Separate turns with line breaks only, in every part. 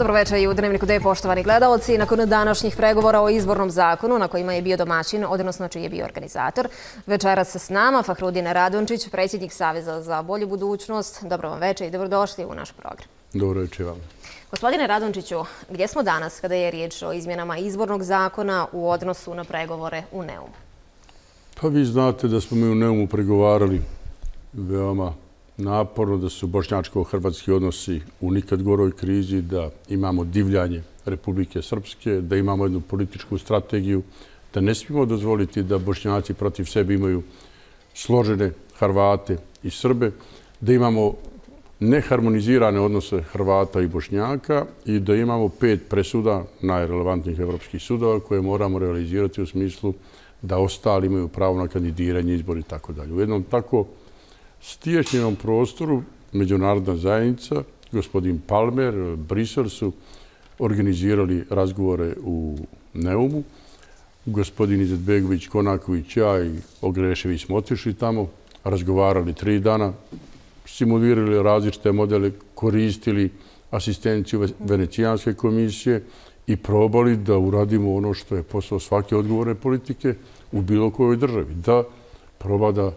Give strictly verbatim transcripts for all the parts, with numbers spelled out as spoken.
Dobro večer i u Dnevniku D, poštovani gledalci. Nakon današnjih pregovora o izbornom zakonu na kojima je bio domaćin, odnosno čiji je bio organizator, večeras s nama Fahrudin Radončić, predsjednik Saveza za bolju budućnost. Dobro vam večer i dobrodošli u naš program.
Dobro večer vam.
Gospodine Radončiću, gdje smo danas kada je riječ o izmjenama izbornog zakona u odnosu na pregovore u Neumu?
Pa vi znate da smo mi u Neumu pregovarali veoma naporno, da su bošnjačko-hrvatski odnosi u nikad goroj krizi, da imamo divljanje Republike Srpske, da imamo jednu političku strategiju, da ne smijemo dozvoliti da Bošnjaci protiv sebe imaju složene Hrvate i Srbe, da imamo neharmonizirane odnose Hrvata i Bošnjaka i da imamo pet presuda najrelevantnijih evropskih sudova koje moramo realizirati u smislu da ostali imaju pravo na kandidiranje, izbor i tako dalje. U jednom tako stiješnjenom prostoru međunarodna zajednica, gospodin Palmer, Brisel su organizirali razgovore u Neumu. Gospodin Izetbegović, Konaković, ja i Ogrešević smo otišli tamo, razgovarali tri dana, simulirali različite modele, koristili asistenciju Venecijanske komisije i probali da uradimo ono što je posao svake odgovorne politike u bilo kojoj državi. Da proba da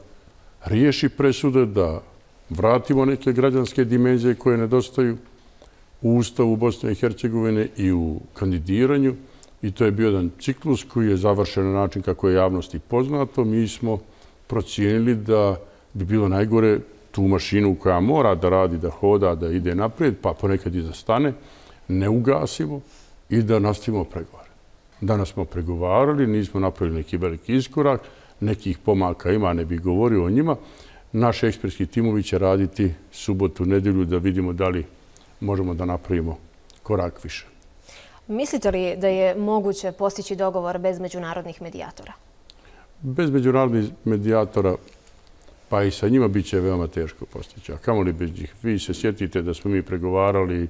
riješi presude, da vratimo neke građanske dimenzije koje nedostaju u Ustavu Bosne i Hercegovine i u kandidiranju. I to je bio jedan ciklus koji je završen na način kako je javnosti poznato. Mi smo procijenili da bi bilo najgore tu mašinu koja mora da radi, da hoda, da ide naprijed, pa ponekad i zastane, ne ugasimo i da nastavimo pregovore. Danas smo pregovarali, nismo napravili neki veliki iskorak, nekih pomaka ima, ne bih govorio o njima. Naš ekspertski timovi će raditi subotu, nedjelju da vidimo da li možemo da napravimo korak više.
Mislite li da je moguće postići dogovor bez međunarodnih medijatora?
Bez međunarodnih medijatora, pa i sa njima bit će veoma teško postići. A kamo li bez njih? Vi se sjetite da smo mi pregovarali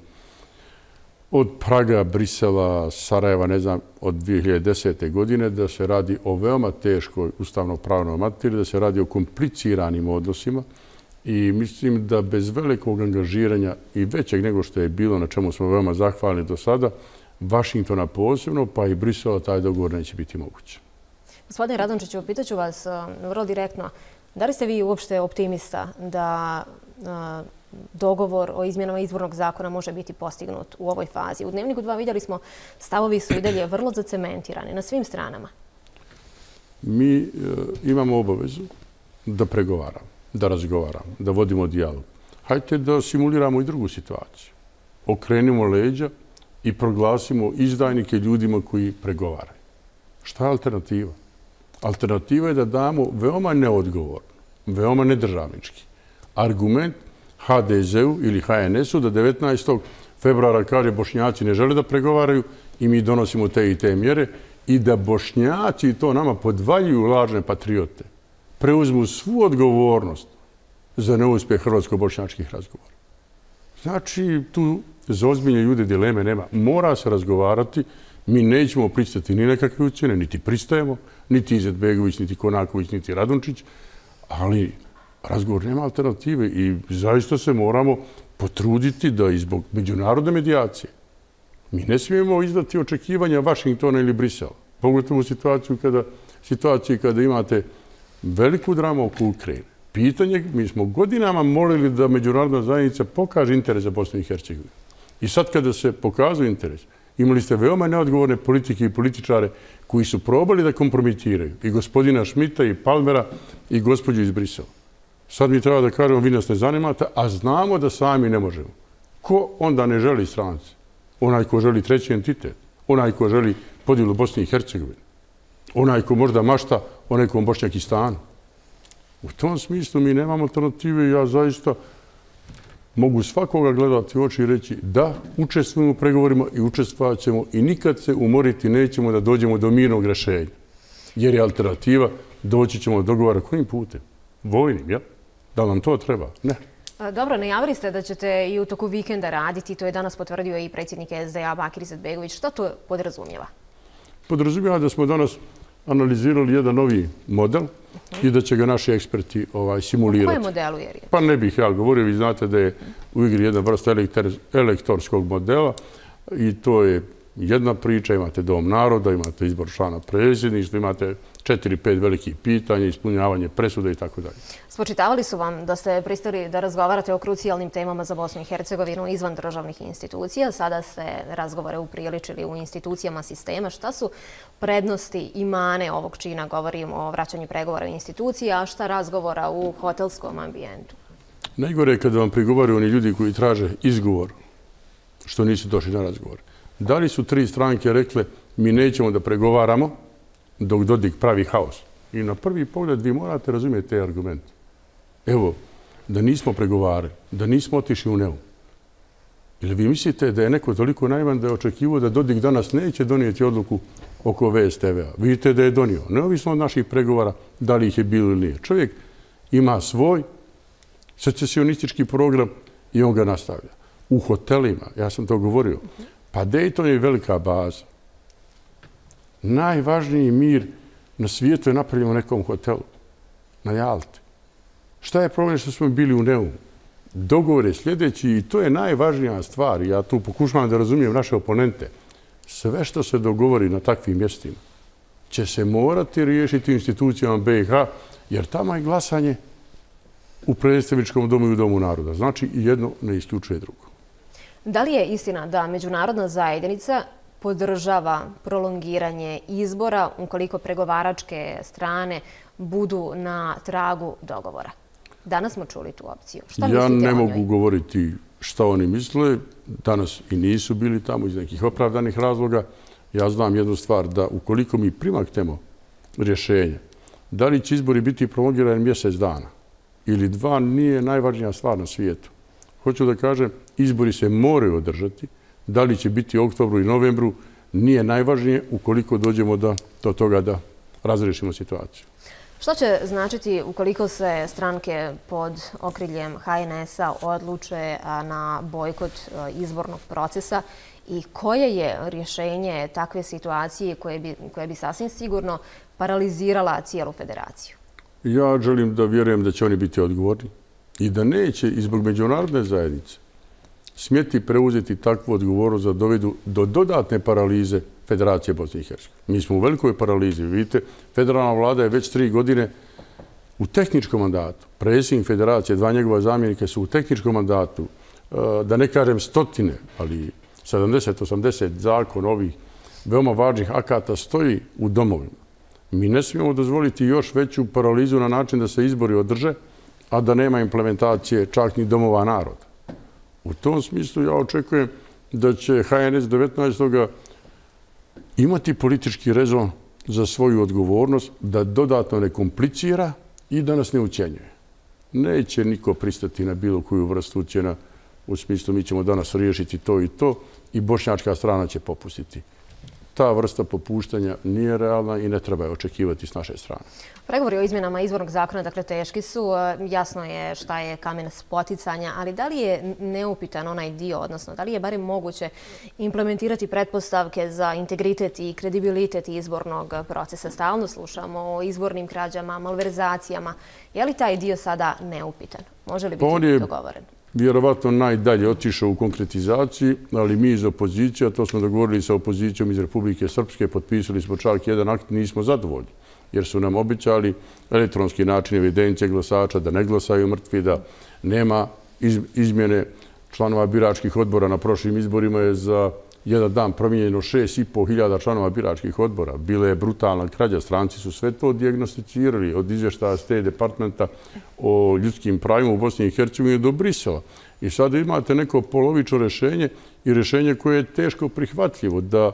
od Praga, Brisela, Sarajeva, ne znam, od dvije hiljade desete. godine, da se radi o veoma teškoj ustavno-pravnoj materiji, da se radi o kompliciranim odnosima i mislim da bez velikog angažiranja i većeg nego što je bilo, na čemu smo veoma zahvalni do sada, Vašingtona posebno, pa i Brisela, taj dogovor neće biti moguće.
Gospodine Radončiću, pitaću vas vrlo direktno, da li ste vi uopšte optimista da dogovor o izmjenama izbornog zakona može biti postignut u ovoj fazi? U Dnevniku dva vidjeli smo stavovi su i dalje vrlo zacementirani na svim stranama.
Mi e, imamo obavezu da pregovaramo, da razgovaramo, da vodimo dijalog. Hajde da simuliramo i drugu situaciju. Okrenimo leđa i proglasimo izdajnike ljudima koji pregovaraju. Šta je alternativa? Alternativa je da damo veoma neodgovorno, veoma nedržavnički argument ha de ze-u ili ha en es-u da devetnaestog februara kaže Bošnjaci ne žele da pregovaraju i mi donosimo te i te mjere i da Bošnjaci to nama podvaljuju lažne patriote, preuzmu svu odgovornost za neuspjeh hrvatsko-bošnjačkih razgovora. Znači, tu za ozbiljne ljude dileme nema. Mora se razgovarati, mi nećemo pristati ni nekakve ucjene, niti pristajemo, niti Izetbegović, niti Konaković, niti Radončić, ali razgovor nema alternative i zaista se moramo potruditi da i zbog međunarodne medijacije mi ne smijemo izdati očekivanja Vašingtona ili Brisela. Pogotovo u situaciju kada, situaciji kada imate veliku dramu oko Ukrajine. Pitanje, mi smo godinama molili da međunarodna zajednica pokaže interes za Bosnu i Hercegovinu. I sad kada se pokazuje interes, imali ste veoma neodgovorne politike i političare koji su probali da kompromitiraju i gospodina Šmita i Palmera i gospođu iz Brisela. Sad mi treba da kažemo, vi nas ne zanimate, a znamo da sami ne možemo. Ko onda ne želi strance? Onaj ko želi treći entitet, onaj ko želi podjelu Bosne i Hercegovine, onaj ko možda mašta o nekom Bošnjakistanu. U tom smislu mi nemamo alternative i ja zaista mogu svakoga gledati u oči i reći da, učestvujemo u pregovorima i učestvovat ćemo i nikad se umoriti nećemo da dođemo do mirnog rješenja. Jer je alternativa, doći ćemo do dogovora kojim putem? Vojnim, ja? Da li nam to treba? Ne.
Dobro, najavili ste da ćete i u toku vikenda raditi, to je danas potvrdio i predsjednik es de a Bakir Izetbegović. Šta to podrazumijeva?
Podrazumijeva da smo danas analizirali jedan novi model i da će ga naši eksperti ovaj, simulirati.
O kojem modelu je riječ?
Pa ne bih ja govorio, vi znate da je u igri jedna vrsta elektorskog modela, i to je jedna priča, imate Dom naroda, imate izbor člana predsjedništva, imate četiri, pet velikih pitanja, ispunjavanje presude i tako dalje.
Spočitavali su vam da ste pristali da razgovarate o krucijalnim temama za Bosnu i Hercegovinu izvan državnih institucija. Sada ste razgovore upriličili u institucijama sistema. Šta su prednosti i mane ovog čina? Govorimo o vraćanju pregovora u institucije, a šta razgovora u hotelskom ambijentu?
Najgore je kada vam prigovaraju oni ljudi koji traže izgovor što nisu došli na razgovor. Da li su tri stranke rekle mi nećemo da pregovaramo dok Dodik pravi haos? I na prvi pogled vi morate razumjeti te argumente. Evo, da nismo pregovarali, da nismo otišli u Neum. Ili vi mislite da je neko toliko naivan da je očekivao da Dodik danas neće donijeti odluku oko V S T V-a? Vidite da je donio, neovisno od naših pregovora, da li ih je bilo ili nije. Čovjek ima svoj secesionistički program i on ga nastavlja. U hotelima, ja sam to govorio, pa Dayton je velika baza. Najvažniji mir na svijetu je napravljen u nekom hotelu, na Jalti. Šta je problem što smo bili u Neumu? Dogovor je sljedeći i to je najvažnija stvar. Ja tu pokušavam da razumijem naše oponente. Sve što se dogovori na takvim mjestima će se morati riješiti u institucijama B i H, jer tamo je glasanje u predstavničkom domu i u Domu naroda. Znači, jedno ne isključuje drugo.
Da li je istina da međunarodna zajednica podržava prolongiranje izbora ukoliko pregovaračke strane budu na tragu dogovora? Danas smo čuli tu opciju. Šta
ja ne
o
mogu
njoj?
govoriti šta oni misle. Danas i nisu bili tamo iz nekih opravdanih razloga. Ja znam jednu stvar, da ukoliko mi primaknemo rješenje, da li će izbori biti prolongirani mjesec dana ili dva, nije najvažnija stvar na svijetu. Hoću da kažem, izbori se moraju održati. Da li će biti u oktobru i novembru, nije najvažnije ukoliko dođemo do, do toga da razrešimo situaciju.
Šta će značiti ukoliko se stranke pod okriljem H N S-a odluče na bojkot izbornog procesa i koje je rješenje takve situacije koje bi, koje bi sasvim sigurno paralizirala cijelu federaciju?
Ja želim da vjerujem da će oni biti odgovorni i da neće i zbog međunarodne zajednice smjeti preuzeti takvu odgovornost da dovedu do dodatne paralize Federacije Bosne i Hercegovine. Mi smo u velikoj paralizi. Vidite, federalna vlada je već tri godine u tehničkom mandatu. Predsjednik Federacije, dva njegova zamjenika su u tehničkom mandatu, da ne kažem stotine, ali sedamdeset osamdeset zakon ovih veoma važnih akata stoji u domovima. Mi ne smijemo dozvoliti još veću paralizu na način da se izbori održe, a da nema implementacije čak ni domova naroda. U tom smislu ja očekujem da će H N S devetnaestog imati politički rezon za svoju odgovornost, da dodatno ne komplicira i da nas ne ucjenjuje. Neće niko pristati na bilo koju vrstu ucjena u smislu mi ćemo danas riješiti to i to i bošnjačka strana će popustiti. Ta vrsta popuštanja nije realna i ne treba je očekivati s naše strane.
Pregovori o izmjenama izbornog zakona, dakle, teški su. Jasno je šta je kamen spoticanja, ali da li je neupitan onaj dio, odnosno da li je barem moguće implementirati pretpostavke za integritet i kredibilitet izbornog procesa? Stalno slušamo o izbornim krađama, malverzacijama. Je li taj dio sada neupitan? Može li biti dogovoren?
Vjerovatno najdalje otišao u konkretizaciji, ali mi iz opozicije, a to smo dogovorili sa opozicijom iz Republike Srpske, potpisali smo čak jedan akt, nismo zadovoljni, jer su nam obećali elektronski način evidencije glasača, da ne glasaju mrtvi, da nema izmjene članova biračkih odbora. Na prošlim izborima je za jedan dan promijenjeno šest i pol hiljada članova biračkih odbora. Bila je brutalna krađa, stranci su sve to dijagnosticirali od izvještaja State Departmenta o ljudskim pravima u Bosni i Hercegovini do Brisela. I sada imate neko polovično rješenje i rješenje koje je teško prihvatljivo, da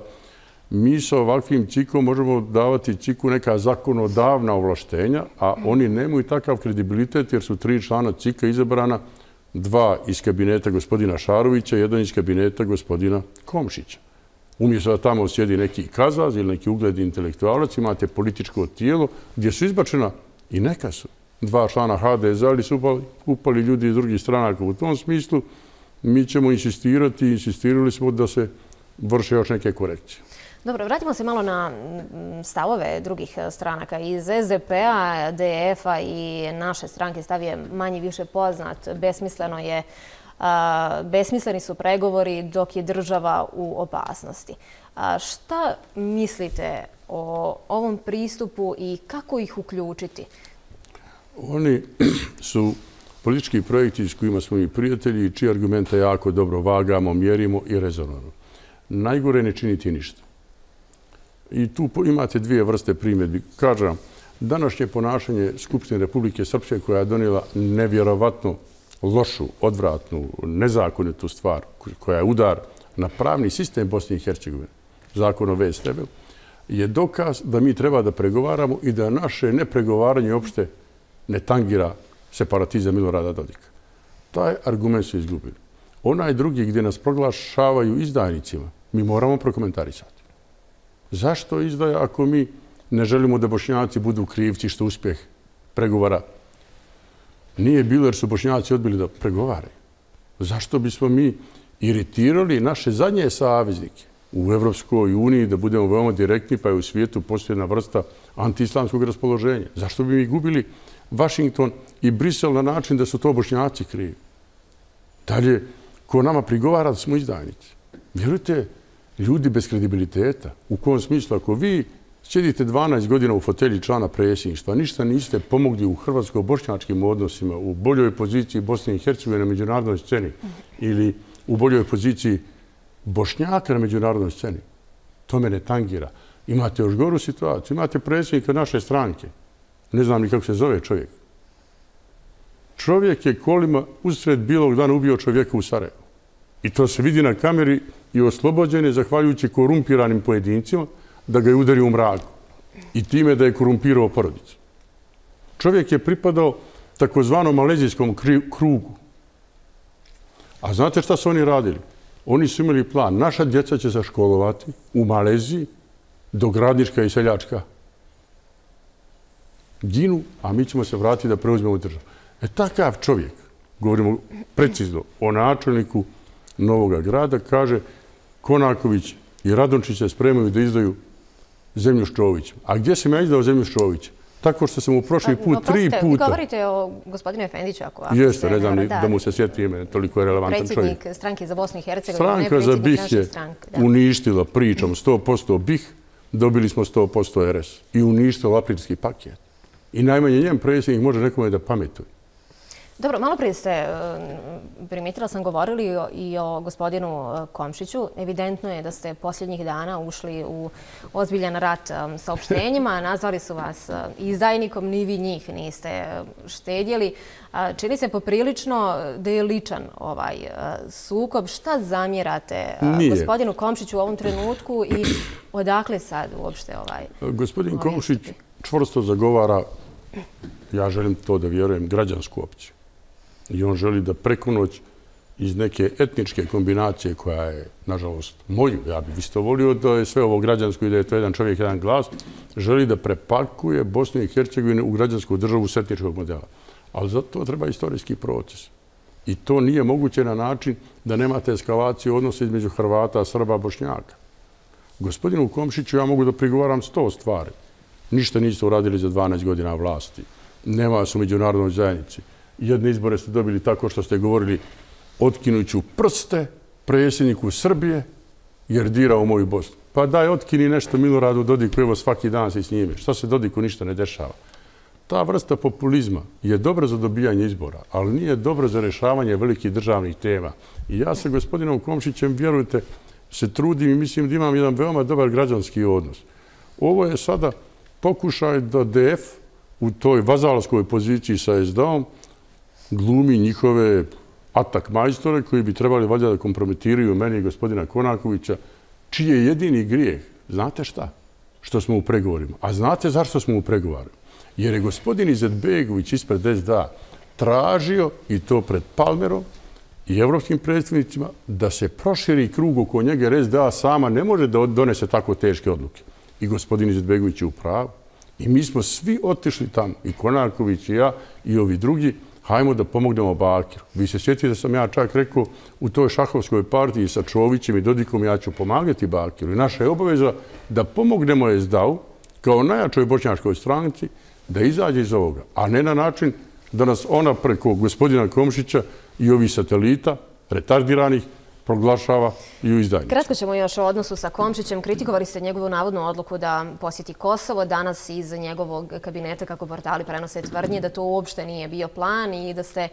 mi sa ovakvim cikom možemo davati ciku neka zakonodavna ovlaštenja, a oni nemaju takav kredibilitet jer su tri člana cika izabrana, dva iz kabineta gospodina Šarovića, jedan iz kabineta gospodina Komšića. Umjesto da tamo sjedi neki kazaz ili neki ugledni intelektualac, imate političko tijelo gdje su izbačena i neka su dva člana H D S-a, ali su upali, upali ljudi iz drugih stranaka. U tom smislu mi ćemo insistirati, insistirali smo da se vrše još neke korekcije.
Dobro, vratimo se malo na stavove drugih stranaka. Iz S D P-a, D F-a i naše stranke stav je manje više poznat. Besmisleno je besmisleni su pregovori dok je država u opasnosti. Šta mislite o ovom pristupu i kako ih uključiti?
Oni su politički projekti s kojima smo i prijatelji i čije argumente jako dobro vagamo, mjerimo i rezonujemo. Najgore ne činiti ništa. I tu imate dvije vrste primjedbi. Kažem, današnje ponašanje Skupštine Republike Srpske koja je donijela nevjerovatno lošu, odvratnu, nezakonitu stvar, koja je udar na pravni sistem Bosne i Hercegovine, zakon o V S T B, je dokaz da mi treba da pregovaramo i da naše nepregovaranje uopšte ne tangira separatizam Milorada Dodika. Taj argument su izgubili. Onaj drugi gdje nas proglašavaju izdajnicima, mi moramo prokomentarisati. Zašto izdaja ako mi ne želimo da Bošnjaci budu krivci što uspjeh pregovara nije bilo jer su Bošnjaci odbili da pregovaraju? Zašto bismo mi iritirali naše zadnje saveznike u Evropskoj uniji da budemo veoma direktni pa je u svijetu postoji jedna vrsta antiislamskog raspoloženja? Zašto bi mi gubili Vašington i Brisel na način da su to Bošnjaci krivi? Dalje, ko nama prigovara da smo izdajnici? Vjerujte, ljudi bez kredibiliteta. U kom smislu? Ako vi sjedite dvanaest godina u fotelji člana predsjedništva, ništa niste pomogli u hrvatsko-bošnjačkim odnosima, u boljoj poziciji Bosne i Hercegovine na međunarodnoj sceni ili u boljoj poziciji Bošnjaka na međunarodnoj sceni, to me ne tangira. Imate još goru situaciju. Imate predsjednika naše stranke. Ne znam ni kako se zove čovjek. Čovjek je kolima usred bilog dana ubio čovjeka u Sarajevu. I to se vidi na kameri i oslobođen je zahvaljujući korumpiranim pojedincima da ga je udario u mraku. I time da je korumpirao porodicu. Čovjek je pripadao takozvanom malezijskom krugu. A znate šta su oni radili? Oni su imali plan. Naša djeca će se školovati u Maleziji dok radnička i seljačka ginu, a mi ćemo se vratiti da preuzmemo državu. E takav čovjek, govorimo precizno o načelniku Novoga grada, kaže Konaković i Radončić se spremaju da izdaju zemlju Ščovića. A gdje sam ja izdao zemlju Ščovića? Tako što sam u prošli put tri puta...
Govorite o gospodinu Efendiću, ako...
Jeste, ne znam da mu se sjeti ime, toliko je relevantan čovjek.
Predsjednik stranke za Bosnu i Hercegovinu,
stranka za B I H je uništila pričom sto posto B I H, dobili smo sto posto R S i uništila aprilski paket. I najmanje njem predsjednik može nekome da pametuje.
Dobro, malo prije ste, primijetila sam, govorili i o gospodinu Komšiću. Evidentno je da ste posljednjih dana ušli u ozbiljan rat saopštenjima. Nazvali su vas izdajnikom, ni vi njih niste štedjeli. Čini se poprilično da je ličan ovaj sukob. Šta zamjerate gospodinu Komšiću u ovom trenutku i odakle sad uopšte ovaj...
Gospodin Komšić čvrsto zagovara, ja želim to da vjerujem, građansku opciju. I on želi da preko noć iz neke etničke kombinacije koja je, nažalost, moju, ja bih isto volio da je sve ovo građansko i da je to jedan čovjek, jedan glas, želi da prepakuje Bosnu i Hercegovinu u građansku državu s etničkog modela. Ali za to treba istorijski proces. I to nije moguće na način da nemate eskalaciju odnosa između Hrvata, Srba, Bošnjaka. Gospodinu Komšiću ja mogu da prigovaram sto stvari. Ništa niste uradili za dvanaest godina vlasti. Nema vas u međunarodnoj zajednici. Jedne izbore ste dobili tako što ste govorili otkinuću prste predsjedniku Srbije jer dira u moju Bosnu. Pa daj, otkini nešto Miloradu Dodiku, evo svaki dan si s njime. Šta se Dodiku ništa ne dešava? Ta vrsta populizma je dobra za dobijanje izbora, ali nije dobra za rješavanje velikih državnih tema. I ja sa gospodinom Komšićem, vjerujte, se trudim i mislim da imam jedan veoma dobar građanski odnos. Ovo je sada pokušaj da D F u toj vazalskoj poziciji sa S D A-om glumi njihove atak majstore koji bi trebali valjda da kompromitiraju meni i gospodina Konakovića, čiji je jedini grijeh. Znate šta? Što smo u pregovorima. A znate zašto smo u pregovorima? Jer je gospodin Izetbegović ispred S D A tražio, i to pred Palmerom i evropskim predstavnicima, da se proširi krug oko njega jer S D A sama ne može da donese tako teške odluke. I gospodin Izetbegović je u pravu. I mi smo svi otišli tamo, i Konaković i ja i ovi drugi, hajmo da pomognemo Bakiru. Vi se sjetite da sam ja čak rekao u toj šahovskoj partiji sa Čovićem i Dodikom ja ću pomagati Bakiru. I naša je obaveza da pomognemo S D A-u kao najjačoj bošnjačkoj stranci da izađe iz ovoga. A ne na način da nas ona preko gospodina Komšića i ovih satelita retardiranih proglašava i u izdajnicu.
Kratko ćemo još o odnosu sa Komšićem. Kritikovali ste njegovu navodnu odluku da posjeti Kosovo. Danas iz njegovog kabineta, kako portali prenose tvrdnje, da to uopšte nije bio plan i da ste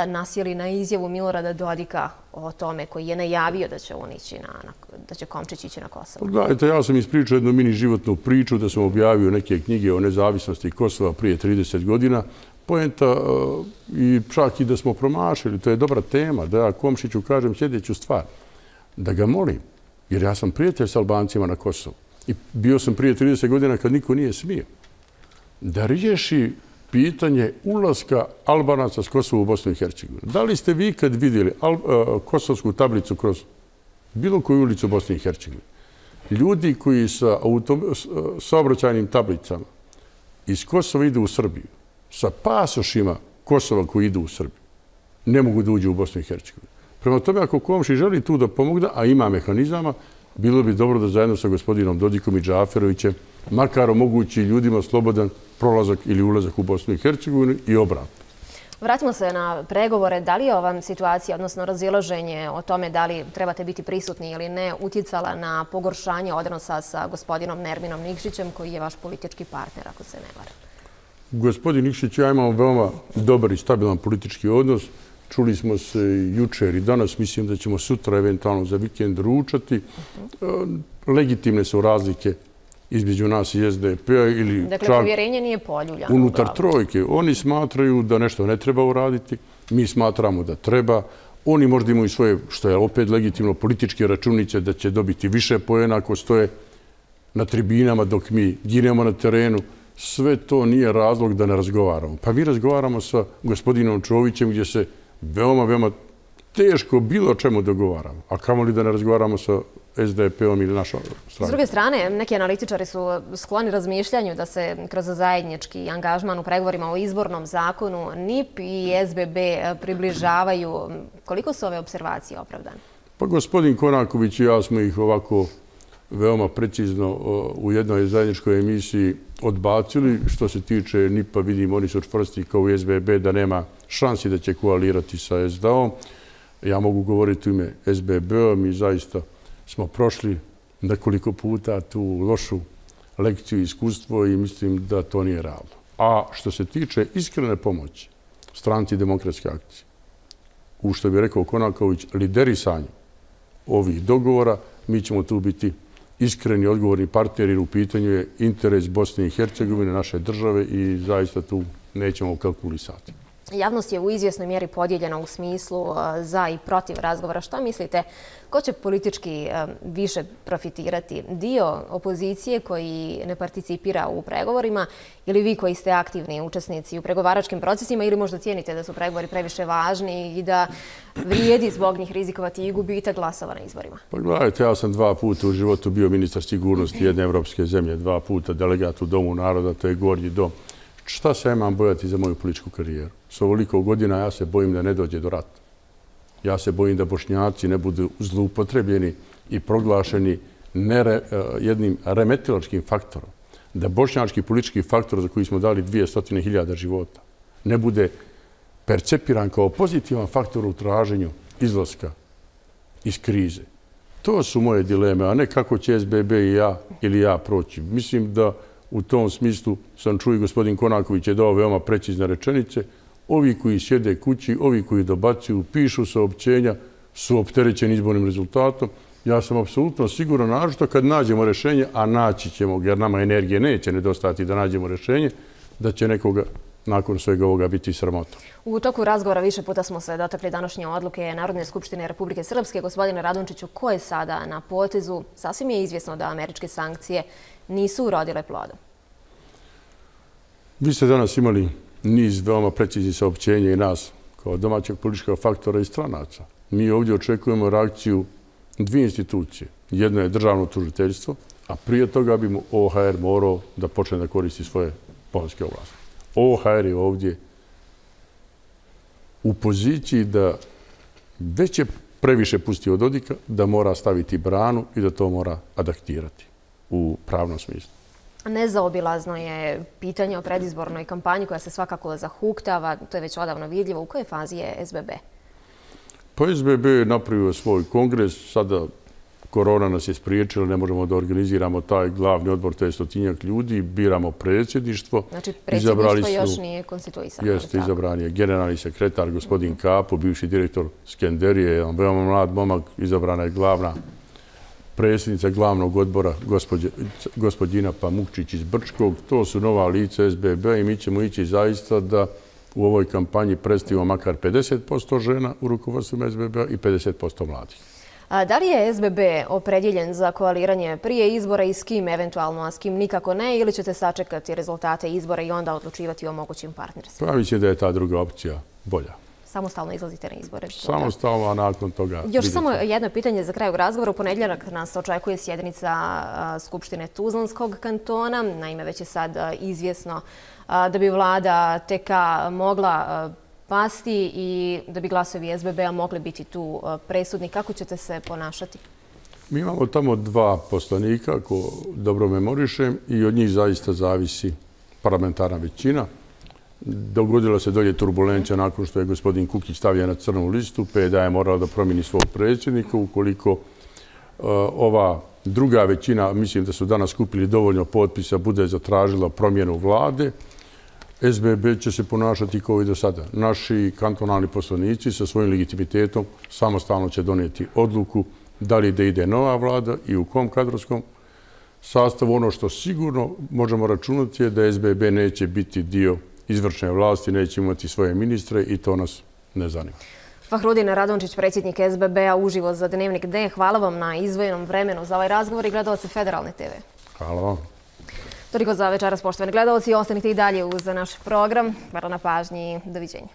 nasjeli na izjavu Milorada Dodika o tome koji je najavio da će on ići na, da će Komšić ići na Kosovo.
Gledajte, ja sam ispričao jednu mini životnu priču da sam objavio neke knjige o nezavisnosti Kosova prije trideset godina. Poenta i čak i da smo promašili, to je dobra tema, da ja Komšiću kažem sljedeću stvar, da ga molim, jer ja sam prijatelj s Albancima na Kosovu i bio sam prije trideset godina kad niko nije smio, da riješi pitanje ulaska Albanaca s Kosova u Bosnu i Hercegovinu. Da li ste vi kad vidjeli kosovsku tablicu kroz bilo koju ulicu u Bosni i Hercegovini? Ljudi koji sa saobraćajnim tablicama iz Kosova idu u Srbiju, sa pasošima Kosova koji idu u Srbiju, ne mogu da uđu u Bosnu i Hercegovinu. Prema tome, ako Komšić želi tu da pomogne, a ima mehanizama, bilo bi dobro da zajedno sa gospodinom Dodikom i Džaferovićem makar omogući ljudima slobodan prolazak ili ulazak u Bosnu i Hercegovinu i obratno.
Vratimo se na pregovore. Da li je ova situacija, odnosno razilaženje o tome da li trebate biti prisutni ili ne, utjecala na pogoršanje odnosa sa gospodinom Nerminom Nikšićem, koji je vaš politički partner, ako se ne varam?
Gospodin Nikšić i ja imamo veoma dobar i stabilan politički odnos. Čuli smo se jučer i danas. Mislim da ćemo sutra eventualno za vikend ručati. Legitimne su razlike između nas i S D P-a ili
dakle, povjerenje nije poljuljano.
Unutar trojke. Oni smatraju da nešto ne treba uraditi. Mi smatramo da treba. Oni možda imaju svoje, što je opet legitimno, političke računice da će dobiti više poena ako stoje na tribinama dok mi ginemo na terenu. Sve to nije razlog da ne razgovaramo. Pa mi razgovaramo sa gospodinom Čovićem gdje se veoma, veoma teško bilo čemu dogovaramo. A kamo li da ne razgovaramo sa S D P-om ili našom stranom?
S druge strane, neki analitičari su skloni razmišljanju da se kroz zajednički angažman u pregovorima o izbornom zakonu N I P i S B B približavaju. Koliko su ove observacije opravdane?
Pa gospodin Konaković i ja smo ih ovako veoma precizno u jednoj zajedničkoj emisiji odbacili. Što se tiče N I P-a, vidim, oni su čvrsti kao u S B B da nema šansi da će koalirati sa S D A-om. Ja mogu govoriti u ime S B B-a. Mi zaista smo prošli nekoliko puta tu lošu lekciju i iskustvo i mislim da to nije realno. A što se tiče iskrene pomoći stranci Demokratske akcije, u što bi rekao Konaković, liderisanju ovih dogovora, mi ćemo tu biti iskreni, odgovorni partneri, jer u pitanju je interes Bosne i Hercegovine, naše države i zaista tu nećemo kalkulisati.
Javnost je u izvjesnoj mjeri podijeljena u smislu za i protiv razgovora. Šta mislite, ko će politički više profitirati? Dio opozicije koji ne participira u pregovorima ili vi koji ste aktivni učesnici u pregovaračkim procesima ili možda cijenite da su pregovori previše važni i da vrijedi zbog njih rizikovati i gubitak glasova na izborima?
Pa gledajte, ja sam dva puta u životu bio ministar sigurnosti jedne evropske zemlje, dva puta delegat u Domu naroda, to je Gornji dom. Šta se imam bojati za moju političku karijeru? S ovoliko godina ja se bojim da ne dođe do rata. Ja se bojim da Bošnjaci ne budu zloupotrebljeni i proglašeni nere, jednim remetilačkim faktorom. Da bošnjački politički faktor za koji smo dali dvjesto hiljada života ne bude percepiran kao pozitivan faktor u traženju izlaska iz krize. To su moje dileme, a ne kako će S B B i ja ili ja proći. Mislim da u tom smislu sam čuo i gospodin Konaković je dao veoma precizne rečenice. Ovi koji sjede kući, ovi koji dobacuju, pišu saopćenja, su opterećeni izbornim rezultatom. Ja sam apsolutno siguran, naročito kad nađemo rješenje, a naći ćemo, jer nama energije neće nedostati da nađemo rješenje, da će nekoga nakon svega ovoga biti sramota.
U toku razgovora više puta smo se dotakli današnje odluke Narodne skupštine Republike Srpske. Gospodine Radončiću, ko je sada na potezu? Sasvim je izvjesno da američke sankcije nisu urodile plodom.
Vi ste danas imali niz veoma preciznih saopćenja i nas kao domaćeg političkog faktora i stranaca. Mi ovdje očekujemo reakciju dvije institucije. Jedno je državno tužiteljstvo, a prije toga bi mu O H R morao da počne da koristi svoje poljske ovlasti. O H R je ovdje u poziciji da već je previše pustio od Dodika, da mora staviti branu i da to mora adaptirati u pravnom smislu.
Nezaobilazno je pitanje o predizbornoj kampanji koja se svakako zahuktava. To je već odavno vidljivo. U kojoj fazi je S B B?
Pa S B B je napravio svoj kongres, sada korona nas je spriječila, ne možemo da organiziramo taj glavni odbor, to je stotinjak ljudi, biramo predsjedništvo.
Znači predsjedništvo još nije konstituisano.
Jeste, izabran je generalni sekretar, gospodin Kapo, bivši direktor Skenderije, jedan veoma mlad momak, izabrana je glavna predsjednica glavnog odbora, gospodina Pamukčić iz Brčkog. To su nova lica S B B i mi ćemo ići zaista da u ovoj kampanji predstavimo makar pedeset posto žena u rukovodstvu S B B i pedeset posto mladih.
Da li je S B B opredjeljen za koaliranje prije izbora i s kim eventualno, a s kim nikako ne, ili ćete sačekati rezultate izbora i onda odlučivati o mogućim partnerstvima?
Pa mislim da je ta druga opcija bolja.
Samostalno izlazite na izbore?
Samostalno, a nakon toga...
Još samo jedno pitanje za kraju razgovora. U ponedjeljak nas očekuje sjednica Skupštine Tuzlanskog kantona. Naime, već je sad izvjesno da bi vlada T K mogla pasti i da bi glasovi S B B-a mogli biti tu presudni. Kako ćete se ponašati?
Mi imamo tamo dva poslanika, ako dobro memorišem, i od njih zaista zavisi parlamentarna većina. Dogodila se dolje turbulencija nakon što je gospodin Kukić stavio na crnu listu, P D A je morala da promijeni svog predsjednika. Ukoliko ova druga većina, mislim da su danas skupili dovoljno potpisa, bude zatražila promjenu vlade, S B B će se ponašati kao i do sada. Naši kantonalni poslanici sa svojim legitimitetom samostalno će donijeti odluku da li da ide nova vlada i u kom kadrovskom sastavu. Ono što sigurno možemo računati je da S B B neće biti dio izvršne vlasti, neće imati svoje ministre i to nas ne zanima.
Fahrudin Radončić, predsjednik S B B-a, uživo za Dnevnik D. Hvala vam na izdvojenom vremenu za ovaj razgovor i gledalce Federalne T V.
Hvala vam.
Toliko za večeras, poštovani gledalci. Ostanite i dalje uz naš program. Hvala na pažnji. Doviđenja.